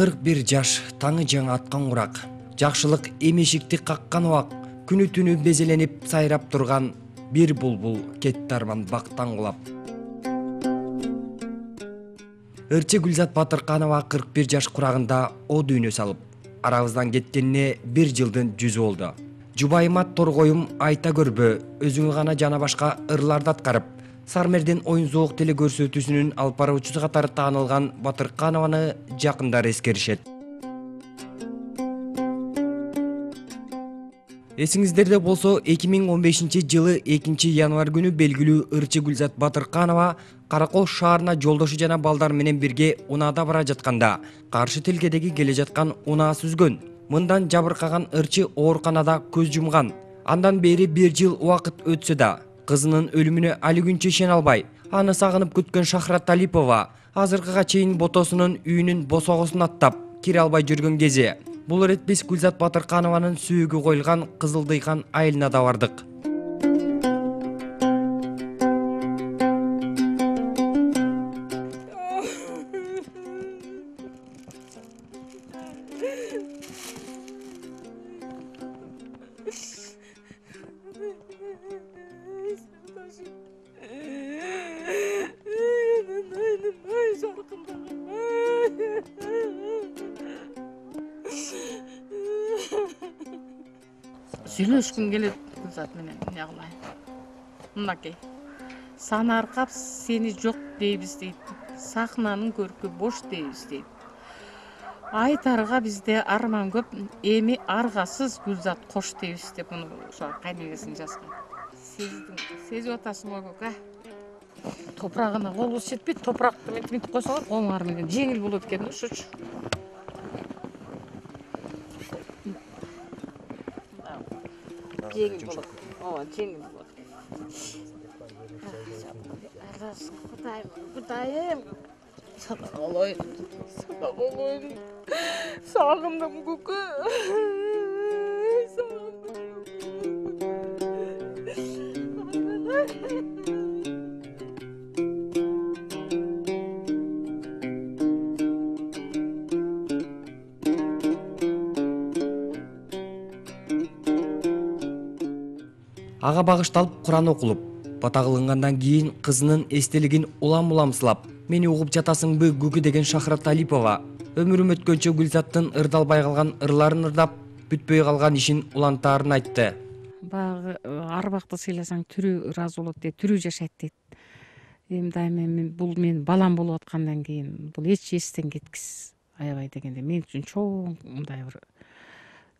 41 жаш, таңы жаңы аткан курак, жакшылык эмешикти каккан убак, күнү түнү безеленип сайрап турган бир булбул кетти арман бактан кулап. Ырчы Гүлзат Батырканова 41 жаш курагында о дүйнө салып, арабыздан кеткенине 1 жылдын жүзү болду. Жубайыма торгоюм айта көрбө, өзүңө гана жана башка ырларды аткарып, Сармердин оюн зоок теле көрсөтүүсүнүн алып баруучусу катары таанылган Батырканованы жакындар эскеришет. Эсиңиздерде болсо 2015-жылы 2-январь күнү белгилүү ырчы Гүлзат Батырканова Каракол шаарына жолдошу жана балдар менен бирге унаада бара жатканда каршы тилкедеги келе жаткан унаа сүзгөн. Мындан жабыркаган ырчы ооруканада көз жумган. Андан бери 1 жыл убакыт өтсө да кызынын өлүмүнө али күнчө ишене албай, аны сагынып күткөн Шахрат Талипова азыркыга чейин ботосунун үйүнүн босогосун аттап кире албай жүргөн кези. Бул ирет биз Гүлзат Батырканованын сүйүгү коюлган Кызылдыйкан айылына да бардык. Сүйлөшкүм келет Гүлзат менен, эмне кылайын. Мынакей. Санаркап сени жок дейбиз дейт. Сахнанын көркү бош дейбиз дейт. Айтарга бизде арман көп, эми аргасыз Гүлзат кош дейбиз деп муну ошо кайнегесин жазган. Сезип атасың го көкө. Топурагына колубуз жетпейт, топуракты мынтип койсоңор колуңар менен жеңил болот экен, ошочу. Жеңил болот. Ооба, жеңил болот. Кудайым. Сага болоюн. Сагындым көкө. Ага багышталып Куран окулуп, бата кылынгандан кийин кызынын эстелигин улам-уламсылап, мени угуп жатасыңбы күкү деген Шахрат Талипова өмүрүм өткөнчө Гүлзаттын ырдалбай калган ырларын ырдап, бүтпөй калган ишин улантаарын айтты. Баягы арбакты сыйласаң түрү ыраазы болот дейт, түрү жашайт дейт. Эми дайыма бул менин балам болуп аткандан кийин бул эч эстен кеткис аябай дегенде мен үчүн чоң мындай бир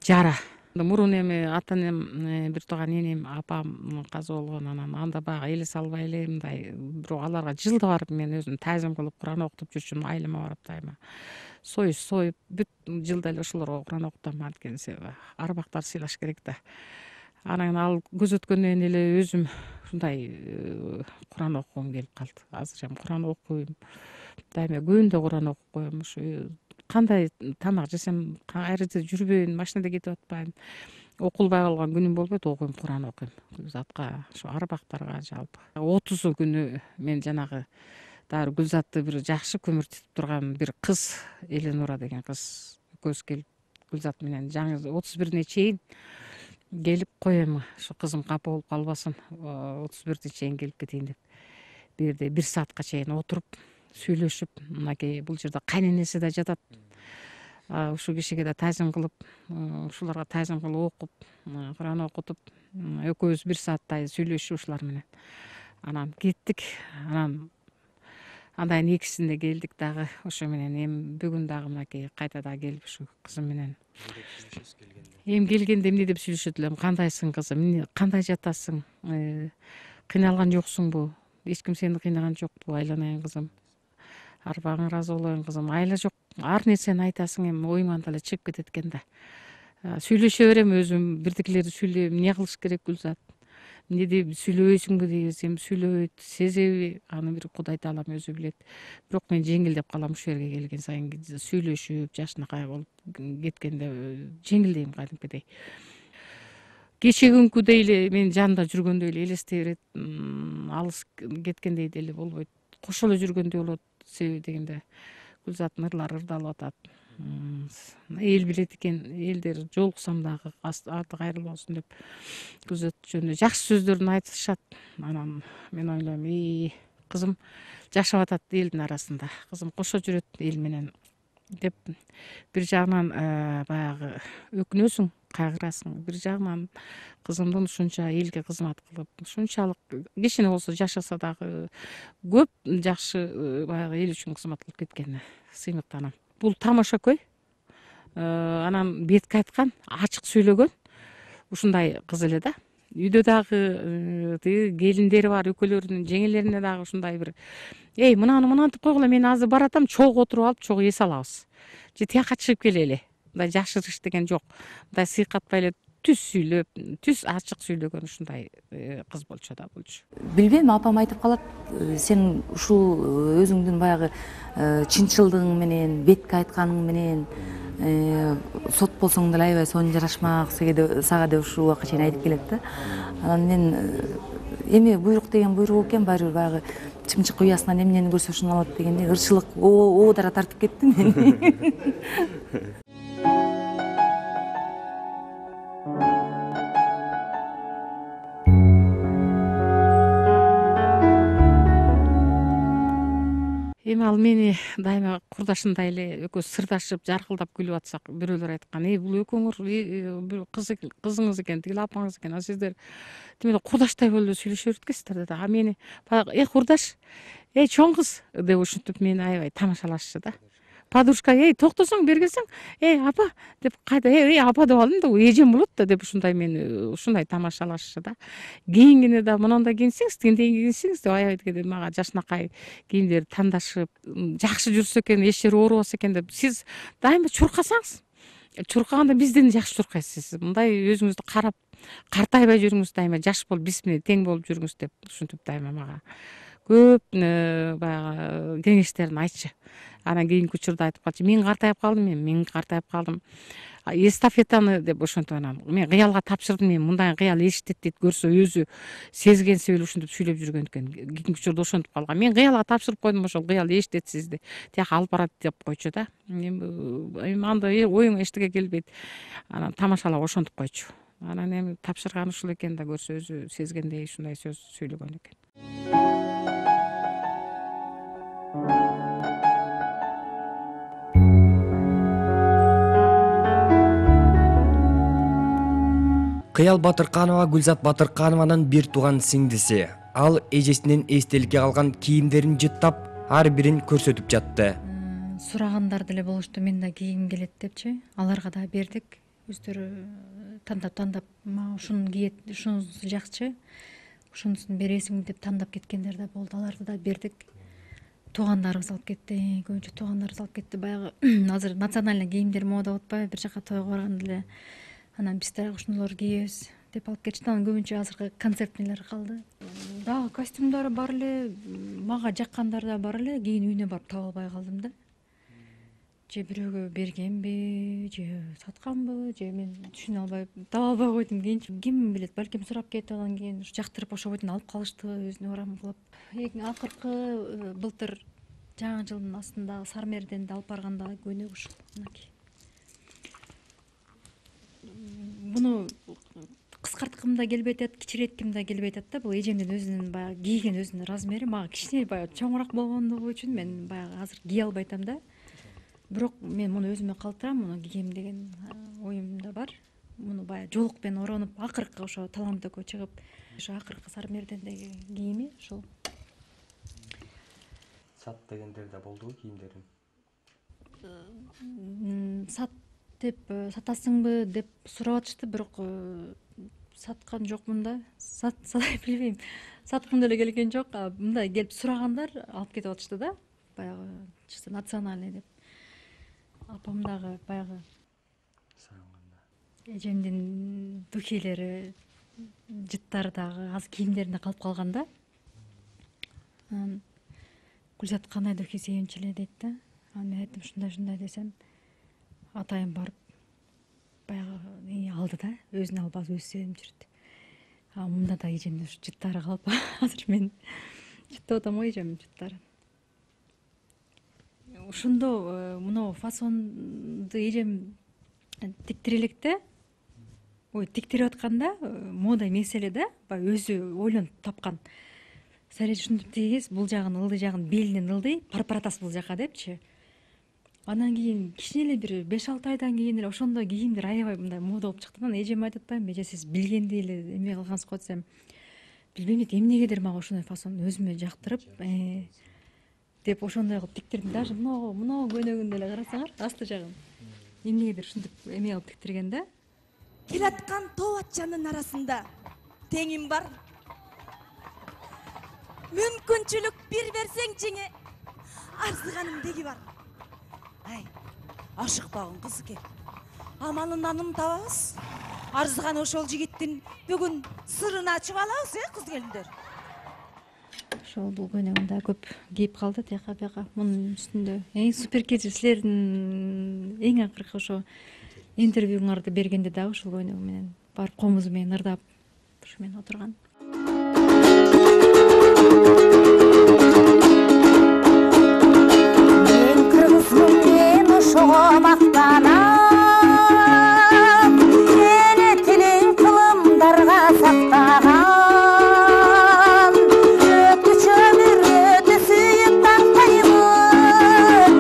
жара. Мурун эми ата-энем, бир тууган энем, апам каза болгон, анан анда баягы эле салбай эле мындай, бирок аларга жылда барып мен өзүм таазим кылып Куран окутуп жүрчүмүн, айылыма барып дайыма. Союз союп, бүт жылда эле ошолорго Куран окутам, анткени себеби арбактар сыйлаш керек да. Анан ал көзөткөндөн эле өзүм ушундай Куран окугум келип калды. Азыр эми Куран окуйм. Дайыма күндө Куран окуп коем. Ушу кандай тамак жесем, кайерде жүрбөйүн, машинада кетип атпайын, окулбай калган күнүм болбойт, окуйм, Куран окуйм. Гүлзатка, ошо арбактарга жалпы. 30 күнү мен жанагы дагы Гүлзатты бир жакшы көмүртүп турган бир кыз, Эленура деген кыз экөөбүз келип, Гүлзат менен жаңы 31-ине чейин келип коем, ошо кызым капа болуп калбасын, 31-ине чейин келип кетейин деп. Бул жерде 1 саатка чейин отуруп, сүйлөшүп, мынакей бул жерде кайненеси да жатат. Ушул кишиге да таазим кылып, ушуларга таазим кылып окуп, Куран окутуп, экөөбүз 1 сааттай сүйлөшүп ушулар менен. Анан кеттик. Анан андан 2-синде келдик дагы. Ошо менен эми бүгүн дагы мынакей кайта дагы келип ушу кызым менен. Эми келгенде эмне деп сүйлөшөт элем? Кандайсың кызым? Кандай жатасың? Кыйналган жоксуңбу? Эч ким сени кыйнаган жокпу? Айланайын кызым. Арбагың ыраазы болоюн кызым. Айла жок. Ар нерсени айтасың, эми оюңан эле чыгып кетет экен да. Сүйлөшө берем өзүм, бирдикилерди сүйлөйм. Эмне кылыш керек Гүлзат? Эмне деп сүйлөбөйсүңбү дейбиз, эми сүйлөбөйт, сезеби? Аны бир Кудай таалам өзү билет. Бирок мен жеңилдеп калам ушул жерге келген сайын, сүйлөшүп, жашынакай болуп кеткенде жеңилдейм кадимкидей. Кече күнкүдөй эле менин жанымда жүргөндөй эле элестей берет, алыс кеткендей деле болбойт. Кошо эле жүргөндөй болот. Себеби дегенде Гүлзаттын ырлары ырдалып атат. эл билет экен, элдер жолуксам дагы аты кайрылуу болсун деп күзөт жөнүндө жакшы сөздөрүн айтышат. Анан мен ойлойм, кызым жашап атат элдин арасында, кызым кошо жүрөт эл менен деп бир жагынан баягы өкүнөсүң, кайгырасың. Бир жагынан кызымдын ушунча элге кызмат кылып, ушунчалык кичине болсо жашаса дагы көп жакшы баягы эл үчүн кызмат кылып кеткенине сыймыктанам. Бул тамошакөй, анан бетке айткан, ачык сүйлөгөн ушундай кыз эле да. Үйдө дагы тиги келиндери бар экөөлөрүнүн жеңелерине дагы ушундай бир мынаны мынантип койгула, мен азыр баратам, чогуу отуруп алып чогуу эс алабыз. Же тияка чыгып келели. Мындай жашырыш деген жок. Мындай сыйкатпай эле түз сүйлөп, түз ачык сүйлөгөн ушундай кыз болчу да болчу. Билбейм, апам айтып калат, сен ушул өзүңдүн баягы чынчылдыгың менен, бетке айтканың менен сот болсоң деле аябай сонун жарашмак сага деп ушул убакка чейин айтып келет да. Анан мен эми буйрук деген буйрук экен, баары бир баягы чымчык уясынан эмнени көрсө ошону алат дегендей ырчылык оодара тартып кетти мени. Эми ал мени дайыма курдашымдай эле экөөбүз сырдашып, жаркылдап күлүп атсак, бирөөлөр айткан, бул экөөңөр кызыңыз экен, тигил апаңыз экен, а сиздер тим эле курдаштай болуп эле сүйлөшө берет экенсиздер деди. А мени баягы курдаш, чоң кыз деп ушинтип мени аябай тамашалашчу да. Подружка, токтосоң бери келсең, апа деп кайда, апа деп алдым да, эжем болот да деп ушундай мени ушундай тамашалашчу да. Кийингенде да мондай кийинсеңиз, тигиндей кийинсеңиз деп аябай дегенде мага жакшынакай кийимдерди тандашып, жакшы жүрсө экен, эч жери оорубаса экен деп. Сиз дайыма чуркасаңыз, чуркаганда бизден жакшы чуркайсыз. Мындай өзүңүздү карап, картайбай жүрүңүз, дайыма жаш болуп, биз менен тең болуп жүрүңүз деп ушинтип дайыма мага көп баягы кеңештерин айтчу. Анан кийинки учурда айтып калчу, мен картайып калдым, эстафетаны деп ошентип анан мен кыялга тапшырдым, мен мындай кыял эшитет дейт, көрсө өзү сезгенси эле ушинтип сүйлөп жүргөн экен. Кийинки учурда ошентип калган. Мен кыялга тапшырып койдум, ошол кыял эшитет сизди, тияка алып барат деп койчу да. Эми анда оюңа эчтеке келбейт. Анан тамашалап ошентип койчу. Анан эми тапшырган ушул экен да, көрсө өзү сезгендей ушундай сөз сүйлөгөн экен. Кыял Батырканова Гүлзат Батырканованын бир тууган сиңдиси. Ал эжесинин эстеликке калган кийимдерин жыттап, ар бирин көрсөтүп жатты. Сурагандар деле болушту, мен да кийгим келет депчи. Аларга да бердик. Өздөрү тандап мага ушуну кийет, ушунусу жакчы, ушунусун бересиңби деп тандап кеткендер да болду. Аларды да бердик. Туугандарыбыз алып кетти, көбүнчө туугандарыбыз алып кетти. Баягы азыр национальный кийимдер мода болуп атпайбы, бир жака тойго барганда эле анан биз дагы ушунуларды кийебиз деп алып кетишти. Анан көбүнчө азыркы концертнелер калды. Дагы костюмдары бар эле, мага жаккандар да бар эле. Кийин үйүнө барып таба албай калдым да. Же бирөөгө бергенби, же сатканбы, же мен түшүнө албай таба албай койдум. Кийинчи ким билет, балким сурап кетип, анан кийин жактырып ошол бойдон алып калыштыбы, өзүнө урам кылып. Акыркы былтыр жаңы жылдын астындагы Сармерденди алып барганда көйнөк ушул мынакей. Буну кыскарткым да келбей атат, кичиретким да келбей атат да. Бул эжемдин өзүнүн баягы кийген өзүнүн размери. Мага кичине баягы чоңураак болгондугу үчүн мен баягы азыр кие албай атам да. Бирок мен муну өзүмө калтырам, муну кийем деген оюмда бар. Муну баягы жолук менен оронуп, акыркы ошо таламтөккө чыгып, ошо акыркы Сармердендеги кийими ушул. Сат дегендер да болдубу кийимдерин? Сат деп сатасыңбы деп сурап атышты, бирок саткан жокмун да. Билбейм, саткым деле келген жок. Мындай келип сурагандар алып кетип атышты да. Баягы чисто национальный деп. Апам дагы баягы эжемдин духилери, жыттары дагы аз кийимдеринде калып калган да. Анан Гүлзат кандай духи сүйүнчү эле дейт да. Анан мен айттым ушундай десем, атайым барып баягы алды да, өзүнө алып өзү себип жүрдү. Мында да эжемдин ушу жыттары калып, азыр мен жыттап атам го эжемдин жыттарын. ошондо мына фасонду эжем тиктире электе, тиктирип атканда мода эмес эле да, баягы өзү ойлонуп тапкан. Сәл ушинтип тигиз, бул жагын ылдый, жагын белинен ылдый, парпаратасыз бул жака депчи. Анан кийин кичине эле бир 5-6 айдан кийин эле ошондой кийимдер аябай мындай мода болуп чыкты. Анан эжеме айтып атпаймынбы, эже сиз билгендей эле эме кылгансыз го десем, билбейм дейт, эмнегедир мага ошондой фасон өзүмө жактырып, деп ошондой кылып тиктирдим. Даже мына көнөгүндө эле карасаңар, асты жагын эмнегедир ушинтип эме кылып тиктирген да. Келаткан тоо атчанын арасында теңим бар. Мүмкүнчүлүк бир берсең жеңе, арзыганым деги бар. Ай, ашыкпагын кызыке. Амалын анын табабыз. Арзыганы ошол жигиттин бүгүн сырын ачып алабыз, кыз келиндер. Ошол бул көнөгүн да көп кийип калды тияка бияка. Мунун үстүндө эң супер кечи силердин эң акыркы ошо интервьюңарды бергенде дагы ушул көнөгү менен бар комузу менен ырдап ушу менен отурган. Мен кыргызмын, мен ошого мактанам. Сени тилиң кылымдарга сактаган. Өткүчө өмүр өтө сүйүп тактаймын.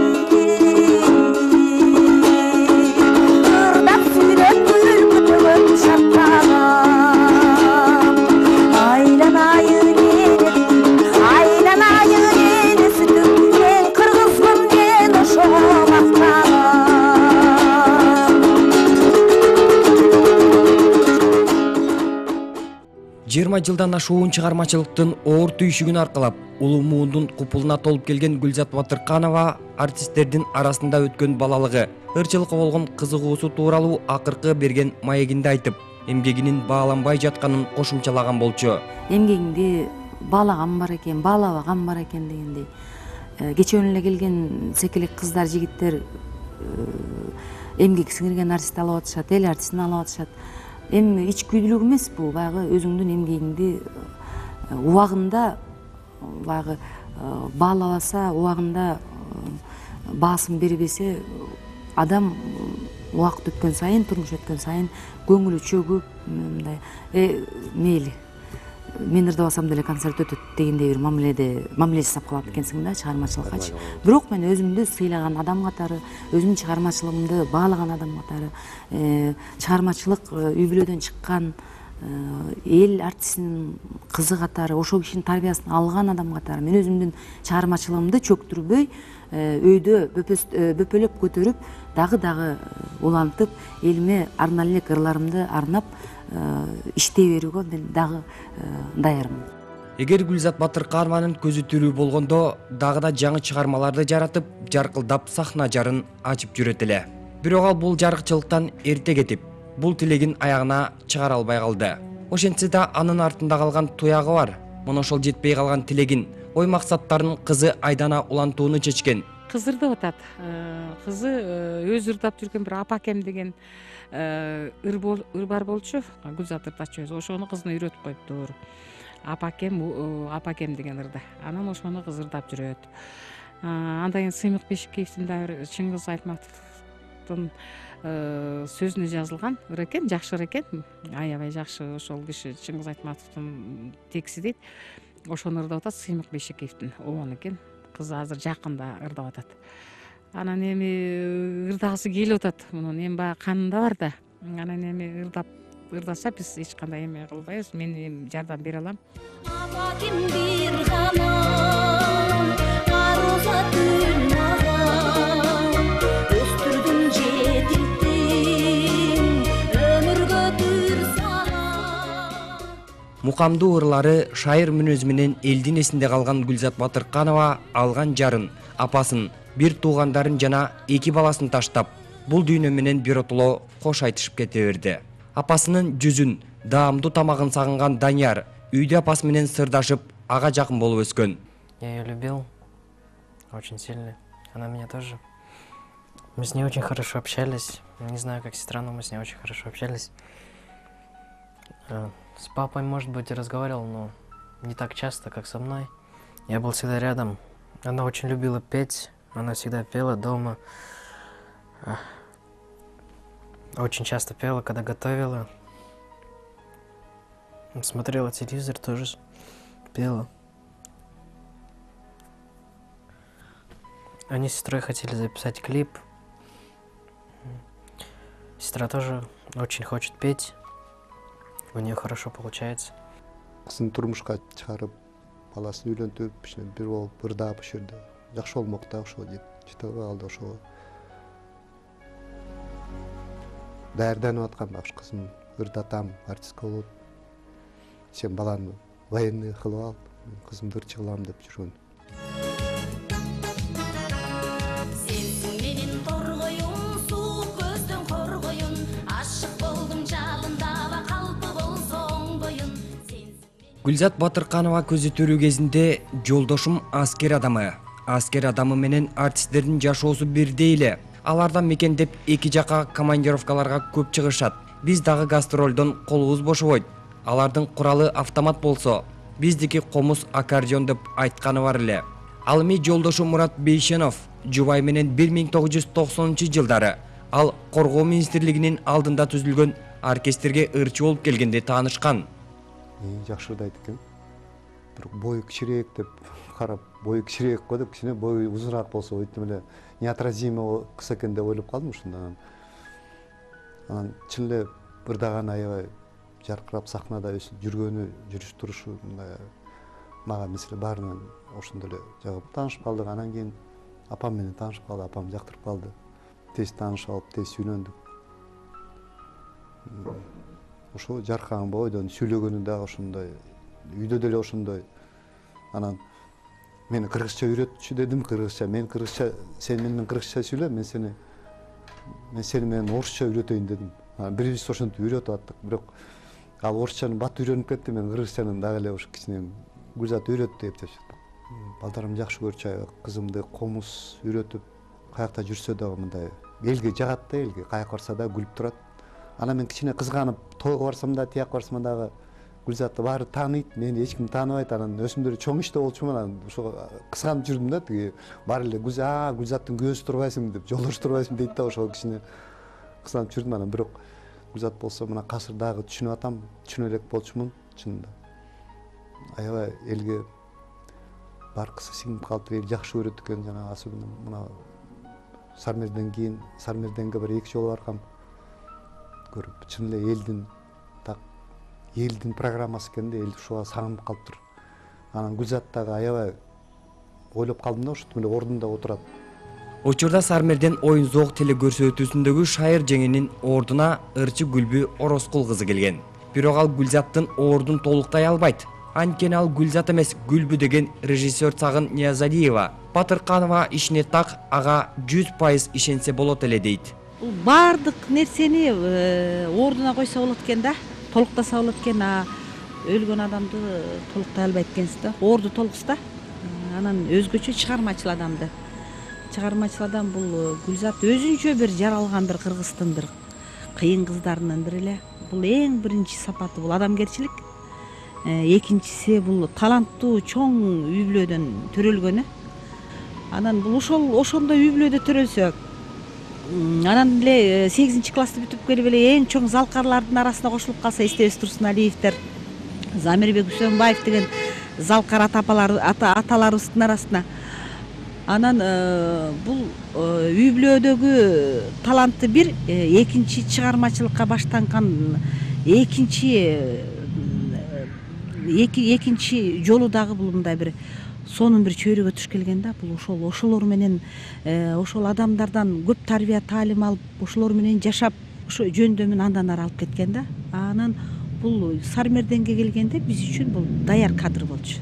Ырдап сүйлөп күлкүтөгөп шаттаган. Айланайын ени сүтүм, мен кыргызмын, мен ошого мактанам. 20 жылдан ашуун чыгармачылыктын оор түйшүгүн аркалап, улуу муундун купулуна толуп келген Гүлзат Батырканова артисттердин арасында өткөн балалыгы, ырчылыкка болгон кызыгуусу тууралуу акыркы берген маегинде айтып, эмгегинин бааланбай жатканын кошумчалаган болчу. Эмгегиңди баалаган бар экен, баалабаган бар экен дегендей. Кечөөнү эле келген секелек кыздар, жигиттер эмгек сиңирген артист алып атышат, эл артистин алып атышат. Эми ичкүйдүүлүк эмес бул, баягы өзүңдүн эмгегиңди убагында баягы баалабаса, убагында баасын бербесе, адам убакыт өткөн сайын, турмуш өткөн сайын көңүлү чөгүп, мындай мейли мен ырдабасам деле концерт өтөт дегендей бир мамиле жасап калат экенсиң да чыгармачылыккачы. Бирок мен өзүмдү сыйлаган адам катары, өзүмдүн чыгармачылыгымды баалаган адам катары, чыгармачылык үй бүлөдөн чыккан эл артистинин кызы катары, ошол кишинин тарбиясын алган адам катары мен өзүмдүн чыгармачылыгымды чөктүрбөй, өйдө бөпөлөп көтөрүп, дагы улантып, элиме арнали элек ырларымды арнап иштей берүүгө мен дагы даярмын. Эгер Гүлзат Батырканованын көзү тирүү болгондо, дагы да жаңы чыгармаларды жаратып, жаркылдап сахна жарын ачып жүрөт эле. Бирок ал бул жарыкчылыктан эрте кетип, бул тилегин аягына чыгара албай калды. Ошентсе да анын артында калган туягы бар. Мына ошол жетпей калган тилегин, ой максаттарын кызы Айдана улантууну чечкен. Кыз ырдап атат. Кызы өзү ырдап жүргөн бир Апакем деген ыр бар болчу. Гүлзат ырдачу өзү. Ошону кызына үйрөтүп коюптур. Апакем деген ырды. Анан ошону кыз ырдап жүрөт. Андан кийин Сыймык Бешикеевдин дагы Чыңгыз Айтматовдун сөзүнө жазылган ыр экен, жакшы ыр экен. Аябай жакшы, ошол киши Чыңгыз Айтматовдун текси дейт. Ошону ырдап атат Сыймык Бешикеевдин обону экен. Кыз азыр жакында ырдап атат. Анан эми ырдагысы келип атат. Мунун эми баягы канында бар да. Анан эми ырдаса биз эч кандай эме кылбайбыз. Мен эми жардам бере алам. Апакем бир гана арузатын мага өстүрдүм жетилтим өмүргө түр сага. Мукамдуу ырлары, шайыр мүнөзү менен элдин эсинде калган Гүлзат Батырканова алган жарын, апасын, бир туугандарын жана 2 баласын таштап, бул дүйнө менен биротоло кош айтышып кете берди. Апасынын жүзүн, даамдуу тамагын сагынган Данияр үйдө апасы менен сырдашып, ага жакын болуп өскөн. Я ее любил очень сильно. Она меня тоже. Мы с ней очень хорошо общались. Не знаю, как сестра, но мы с ней очень хорошо общались. С папой, может быть, и разговаривал, но не так часто, как со мной. Я был всегда рядом. Она очень любила петь. Она всегда пела дома. Очень часто пела, когда готовила. Смотрела телевизор, тоже пела. Они с сестрой хотели записать клип. Сестра тоже очень хочет петь. У нее хорошо получается. Кызын турмушка чыгарып, баласын үйлөнтүп, бир болуп ырдап ошол жерде жакшы болмок да, ошо жете калды ошого. Даярданып аткан да, кызым ырдатам, артистка болот. Сен баланы военный кылып ал, кызымды ырчы кылам деп жүргөн. Сенсиң менин торгоюм, суук көздөн коргоюн, ашык болдум жалындаба калпы болсоң боюн. Гүлзат Батырканова көзөтөрүү кезинде жолдошум аскер адамы менен артисттердин жашоосу бирдей эле. Алардан мекендеп эки жака командировкаларга көп чыгышат. Биз дагы гастролдон колубуз бошобойт. Алардын куралы автомат болсо, биздики комуз аккордеон деп айтканы бар эле. Ал эми жолдошу Мурат Бейшенов жубай менен 1990-жылдары ал Коргоо министрлигинин алдында түзүлгөн оркестрге ырчы болуп келгенде таанышкан. Жакшы ырдайт экен. Бирок бою кичирээк деп карап, бою кичирээк го деп, кичине бою узунаак болсо өйтүп эле неотразимо кыз экен деп ойлоп калдым ушундан. Анан чын эле ырдаган аябай жаркырап сахнада жүргөнү, жүрүш-турушу мага мисалы баарынан ошондой эле жагып таанышып калдык. Анан кийин апам менен таанышып калды, апам жактырып калды. Тез таанышып алып, тез үйлөндүк. Ошо жаркаган бойдон сүйлөгөнү дагы ошондой, үйдө деле ошондой. Анан мени кыргызча үйрөтчү дедим, кыргызча. Сен менен кыргызча сүйлө, мен сени менен орусча үйрөтөйүн дедим. Бирибиз ошентип үйрөтүп аттык. Бирок ал орусчаны бат үйрөнүп кетти, мен кыргызчанын дагы эле ошо кичине Гүлзат үйрөттү деп жашаттык. Балдарым жакшы көрчү, кызымды комуз үйрөтүп, каякта жүрсө дагы мындай элге жагат да, элге каяка барса да күлүп турат. Анан мен кичине кызганып, тойго барсам да, тияк барсам дагы Гүлзатты баары тааныйт, мени эч ким тааныбайт. Анан өсүмдөр чоң иште болчумун, анан ошо кызганып жүрдүм да, тиги баары эле Гүлзаттын көзү турбайсың деп, жолдош турбайсың дейт да, ошого кичине кызганып жүрдүм. Анан бирок Гүлзат болсо мына азыр дагы түшүнүп атам, түшүнө элек болчумун чынында. Аябай элге баркысы сиңип калып, эл жакшы көрөт экен. Жана особенно мына Сармерден кийин, Сармерденге бир 2 жолу баргам. Көрүп, чын эле элдин программасы экен да, эл ушуга сагынып калыптыр. Анан Гүлзат дагы аябай ойлоп калдым да, ушинтип эле ордунда отурат. Учурда Сармерден оюн зоок телекөрсөтүүсүндөгү шайыр жеңинин ордуна ырчы Гүлбү Ороскул кызы келген. Бирок ал Гүлзаттын ордун толуктай албайт. Анткени ал Гүлзат эмес, Гүлбү деген режиссер Цагын Ниязалиева. Батырканова ишине так, ага 100% ишенсе болот эле дейт. Бул баардык нерсени ордуна койсо болот экен да, толуктаса болот экен. Өлгөн адамды толуктай албайт экенсиз да. Орду толукса, анан өзгөчө чыгармачыл адамды. Чыгармачыл адам бул Гүлзат өзүнчө бир жаралган бир кыргыздын бир кыйын кыздарынын бири эле. Бул эң биринчи сапаты бул адамгерчилик. Экинчиси бул таланттуу чоң үй бүлөдөн төрөлгөнү. Анан бул ошондой үй бүлөдө төрөлсө, анан эле 8-классты бүтүп келип эле эң чоң залкарлардын арасына кошулуп калса, эстебес Турсуналиевдер, Замирбек Үсөнбаев деген залкар аталарыбыздын арасына. Анан бул үй бүлөдөгү талантты бир, экинчи чыгармачылыкка баштанган экинчи жолу дагы бул мындай бир сонун бир чөйрөгө туш келген да. Бул ошолор менен, ошол адамдардан көп тарбия таалим алып, ошолор менен жашап, ошо жөндөмүн андан ары алып кеткен да. Анан бул Сармерденге келгенде биз үчүн бул даяр кадр болчу.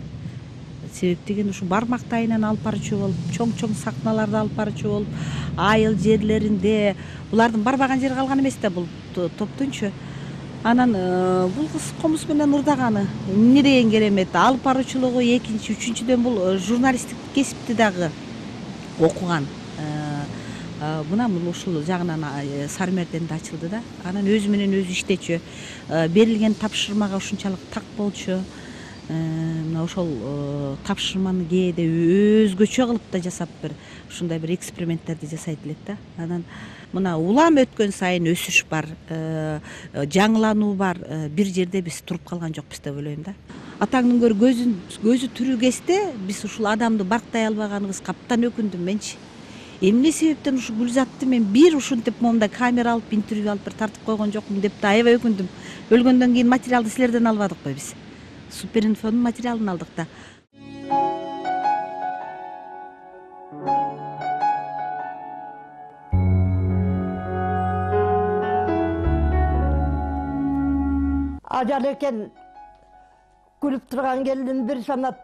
Себеп деген ушу бармак тайынан алып барчу болуп, чоң сахналарда алып барчу болуп, айыл жерлеринде, булардын барбаган жери калган эмес да бул топтунчу. Анан бул кыз комуз менен ырдаганы эмне деген керемет, алып баруучулугу экинчи, үчүнчүдөн бул журналисттик кесипти дагы окуган. Мына бул ушул жагынан Сармерденде ачылды да. Анан өзү менен өзү иштечү, берилген тапшырмага ушунчалык так болчу. мына ошол тапшырманы кээде өзгөчө кылып да жасап бир ушундай бир эксперименттерди жасайт элек да. Анан мына улам өткөн сайын өсүш бар, жаңылануу бар, бир жерде биз туруп калган жокпуз деп ойлойм да. Атаңдын көзү тирүү кезде биз ушул адамды барктай албаганыбызга абдан өкүндүм менчи. Эмне себептен ушу Гүлзатты мен бир ушинтип моундай камера алып, интервью алып бир тартып койгон жокмун деп да аябай өкүндүм. Өлгөндөн кийин материалды силерден албадыкпы биз? Суперинфонун материалын алдык да. Ажал экен күлүп турган келдим бир санап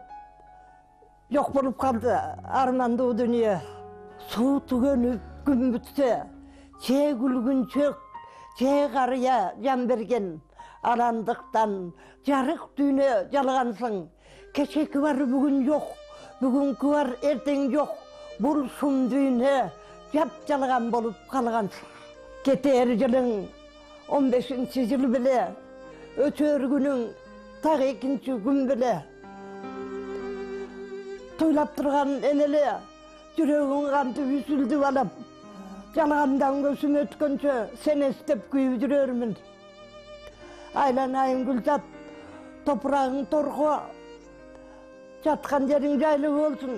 жок болуп калды армандуу дүнүйө. Суу түгөнүп күн бүтсө, че күлгүнчөк, че карыя жан берген арандыктан жарык дүйнө жалгансың. Кечеки бар бүгүн жок, бүгүнкү бар эртең жок. Бул сум дүйнө жап-жалган болуп калгансың. Кетер жылың 15-жыл беле, өтөр күнүң так 2-күн беле. Тойлап турган энеле, жүрөгүң кантип үзүлдү балам. Жалгандан көзүм өткөнчө сени эстеп күйүп жүрөрмүн. Айланайын Гүлзат, топурагың торго, жаткан жериң жайлуу болсун.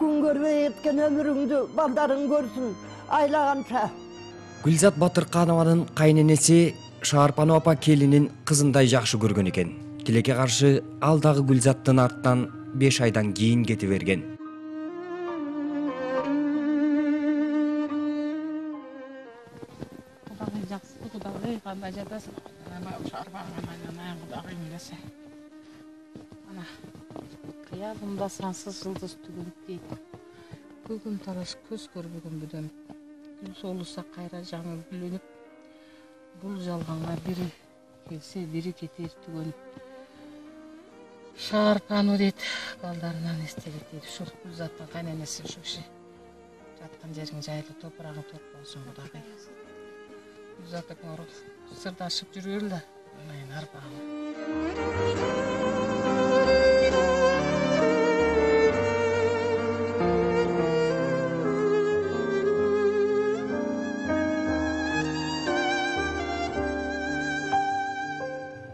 Күн көрбөй кеткен өмүрүңдү балдарың көрсүн айлаганча. Гүлзат Батырканованын кайненеси Шаарпанова апа келинин кызындай жакшы көргөн экен. Тилекке каршы ал дагы Гүлзаттын артынан 5 айдан кийин кете берген. Кудагый жакшы, кудагый кандай жатасың? Кудагыйм десе. Ана кыябымда сансыз жылдыз түгүлүп дейт. Көгүм тараш көз көрбөгөн бүдөн. Гүл солуса кайра жаңы гүлөнүп, бул жалганга бири келсе, бири кетер түгөнүп. Шаарпануу дейт, балдарынан эстелик дейт. Ушул Гүлзаттын кайненеси ушу киши. Жаткан жериң жайлуу, топурагың топ болсун кудагый. Гүлзат акмаров сырдашып жүргөр да, мен арбагым.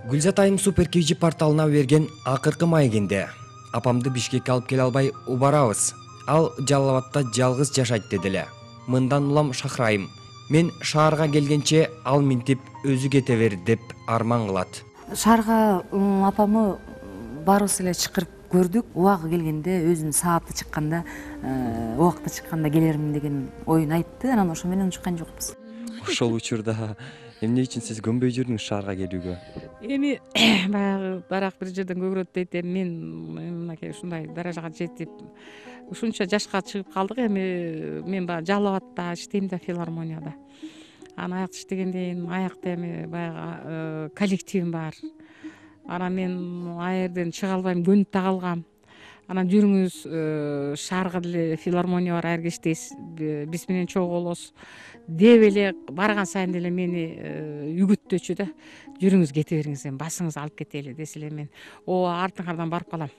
Гүлзат айым Супер KG порталына берген акыркы маегинде апамды Бишкекке алып келе албай убарабыз. Ал Жалал Абадта жалгыз жашайт дедиле. Мындан улам Шахрайым, мен шаарга келгенче ал минтип өзү кете бер деп арман кылат. Шаарга апамы баарыбыз эле чакырып көрдүк. Убагы келгенде өзүнүн сааты чыкканда, убакыты чыкканда келермин деген оюн айтты. Анан ошо менен чыккан жокпуз. Ошол учурда эмне үчүн сиз көнбөй жүрдүңүз шаарга келүүгө? Эми баягы барак бир жерден көгөрөт дейт, мен мынакей ушундай даражага жетип, ушунча жашка чыгып калдык. Эми мен баягы Жалал Абадта иштейм да, филармонияда. Анан аякта иштегенден кийин аякта эми баягы коллективим бар. Анан мен аерден чыга албайм, көнүп да калгам. Анан жүрүңүз, шаарга деле филармония бар, аерге иштейсиз, биз менен чогуу болосуз деп эле барган сайын деле мени үгүттөчү да. Жүрүңүз кете бериңиз, эми басыңызды алып кетели десе эле мен артыңардан барып калам.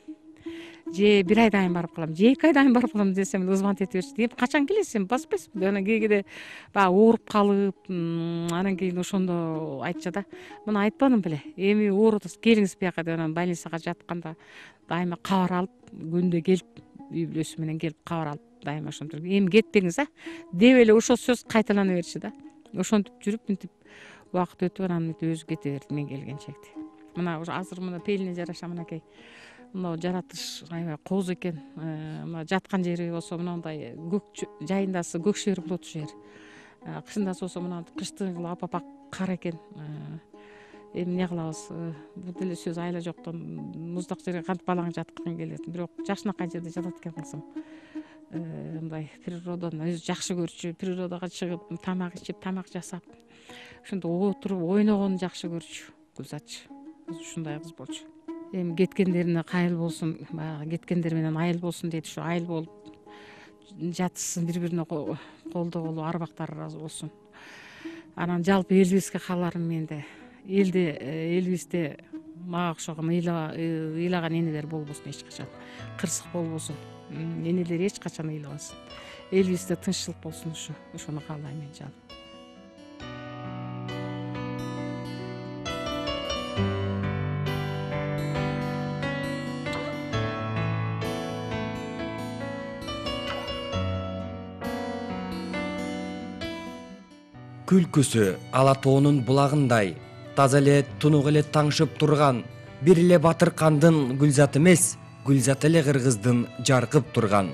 Же бир айдан кийин барып калам, же 2 айдан кийин барып калам десем звонить эте беришти. Эми качан келесиз, эми баспайсызбы? Анан кээде баягы ооруп калып, анан кийин ошондо айтчу да. Мына айтпадым беле. Эми оорудуңуз, келиңиз бияка деп анан больницага жатканда дайыма кабар алып, күндө келип, үй бүлөсү менен келип кабар алып, дайыма ошентип, эми кетпеңиз деп эле ошол сөз кайталана берчү да. Ошентип жүрүп, мынтип убакыт өтүп, анан өзү кете берди мен келгенчекти. Мына азыр мына пелине жараша мынакей. Мына жаратыш аябай кооз экен. Мына жаткан жери болсо мындай көк жайындасы көк шер болот ушул жер. Кышындасы болсо мына кыштыгы апапак кар экен. Эми эмне кылабыз? Бул деле сөз айла жоктон муздак жерге кантип балаң жаткың келет. Бирок жакшынакай жерде жатат экен кызым. Мындай природаны өзү жакшы көрчү, природага чыгып, тамак ичип, тамак жасап, ошондо отуруп ойногонду жакшы көрчү Гүлзатчы. Ушундай кыз болчу. Эми кеткендерине кайыл болсун, баягы кеткендер менен айыл болсун дейт. Ушу айыл болуп жатышсын, бири-бирине колдогулу, арбактары ыраазы болсун. Анан жалпы элибизге кааларым менде. Элибизде мага окшогон ыйлаган энелер болбосун эч качан, кырсык болбосун, энелер эч качан ыйлабасын, элибизде тынччылык болсун, ошону каалайм мен жаным. Күлкүсү ала тоонун булагындай таза эле тунук эле таңшып турган, бир эле Батыркандын гүлзаты эмес, гүлзаты эле кыргыздын жаркып турган.